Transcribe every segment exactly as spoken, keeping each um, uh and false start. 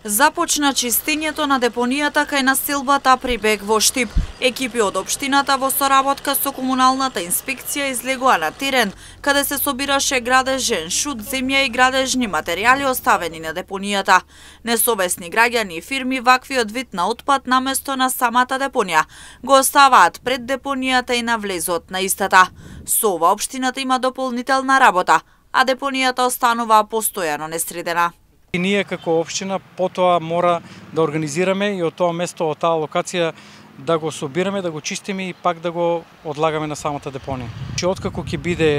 Започна чистењето на депонијата кај населбата Прибег во Штип. Екипи од општината во соработка со комуналната инспекција излегоа на терен, каде се собираше градежен шут, земја и градежни материјали оставени на депонијата. Несовесни граѓани и фирми ваквиот вид на отпад наместо на самата депонија го оставаат пред депонијата и на влезот на истата. Со ова општината има дополнителна работа, а депонијата останува постојано несредена. И ние како општина потоа мора да организираме и од тоа место, од таа локација да го собираме, да го чистиме и пак да го одлагаме на самата депонија. Значи, откако ќе биде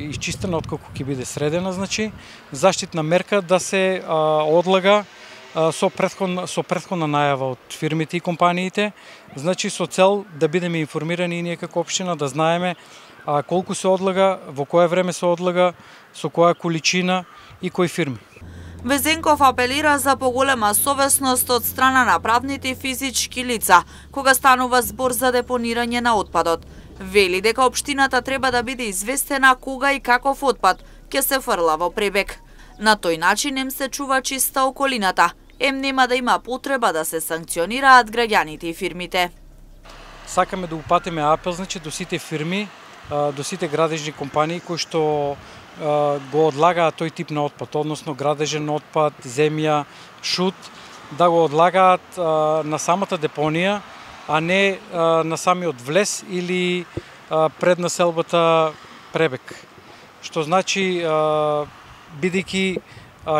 исчистена, откако ќе биде средена, значи заштитна мерка да се а, одлага а, со претходна со претходна најава од фирмите и компаниите, значи со цел да бидеме информирани и ние како општина да знаеме а, колку се одлага, во кое време се одлага, со која количина и кои фирми. Везенков апелира за поголема совесност од страна на правните и физички лица, кога станува збор за депонирање на отпадот. Вели дека општината треба да биде известена кога и каков отпад ќе се фрла во Прибег. На тој начин ем се чува чиста околината, ем нема да има потреба да се санкционираат граѓаните и фирмите. Сакаме да упатиме апел, значи, до сите фирми, до сите градежни компании кои што го одлагаат тој тип на отпад, односно градежен отпад, земја, шут, да го одлагаат на самата депонија, а не на самиот влез или пред населбата Прибег. Што значи, бидејќи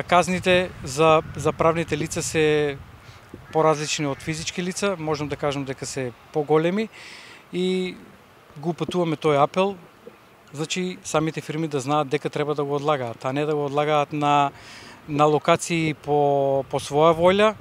казните за, за правните лица се поразлични од физички лица, можам да кажам дека се поголеми и го упатуваме тој апел. Значи, самите фирми да знаат дека треба да го одлагаат, а не да го одлагаат на, на локации по, по своја волја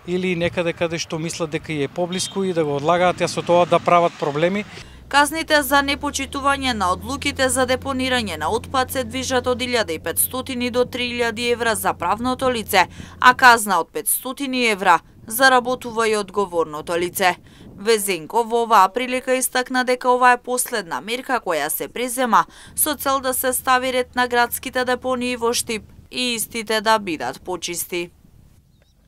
или некаде каде што мислат дека е поблиску и да го одлагаат, а со тоа да прават проблеми. Казните за непочитување на одлуките за депонирање на отпад се движат од илјада и петстотини до три илјади евра за правното лице, а казна од петстотини евра заработува и одговорното лице. Везенков во оваа прилика истакна дека ова е последна мерка која се презема со цел да се стави ред на градските депонии во Штип и истите да бидат почисти.